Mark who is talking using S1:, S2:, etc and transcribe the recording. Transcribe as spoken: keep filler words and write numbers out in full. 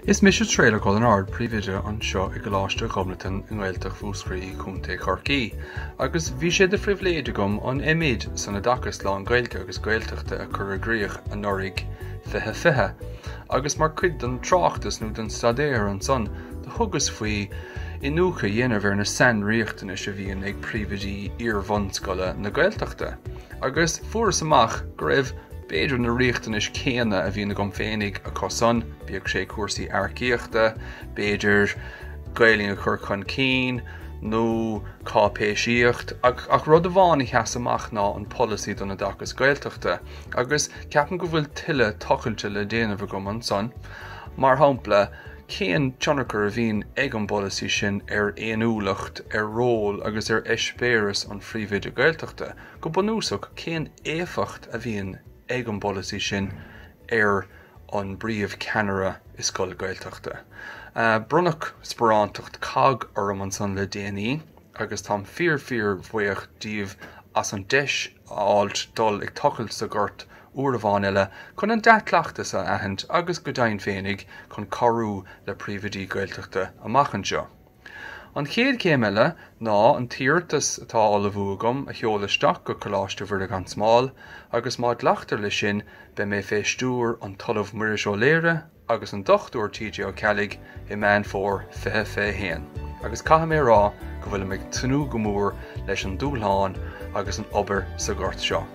S1: Is mise Traolach Ó Lionáird, Príomhoide anseo i gColáiste Ghobnatan i nGaeltacht Mhúscraí, Contae Chorcaí, agus bhí sé de phribhléid agam an M.Ed san Oideachas Lán-Ghaeilge agus Gaeltachta a chur i gcrích anuraidh fiche fiche, agus mar chuid den tráchtas nó den staidéar ansan do thugas faoi iniúchadh a dhéanamh ar na sainriachtanais a bhíonn ag príomhoidí iar-bhunscoile na Gaeltachta, agus fuaireas amach go raibh b'fhéidir na riachtanais céanna a bhíonn agam féinig acu san, bíodh sé cúrsaí earcaíochta, b'fhéidir Gaelainn a chur chun cinn, nó cáipéisíocht, ach, ach rud amháin a sheas amach ná an polasaí don oideachas Gaeltachta, agus ceapaim go bhfuil tuilleadh tochailte le déanamh agam ansan. Mar shampla, cén tionchar a bhíonn ag an bpolasaí sin ar fhéiniúlacht, ar ról agus ar eispéireas an phríomhoide Gaeltachta? Go bunúsach, cén éifeacht a bhíonn ag an bpolasaí sin ar an bpríomhcheannaire i scoil Gaeltachta? Bronnadh sparántacht cogg orm ansan le déanaí agus táim fíor fíor bhuíoch díobh as an deis a fháilt dul ag tochailt sa ghort uair amháin eile chun an dea-chleachtas a aithint agus go deimhin féinig chun cabhrú le príomhoidí Gaeltachta amach anseo. An chéad chéim eile ná an t-iarratas atá á ullmhú agam a sheoladh isteach go Coláiste Mhuire gan Smál agus má ghlactar leis sin beidh mé fé stiúir an tOllamh Muiris Ó Laoire agus an Dochtúir T J Ó Ceallaigh i Meán Fómhair fiche fiche haon, agus caithfidh mé a rá go bhfuilim ag tnúth go mór leis an dúshlán agus an obair sa ghort seo.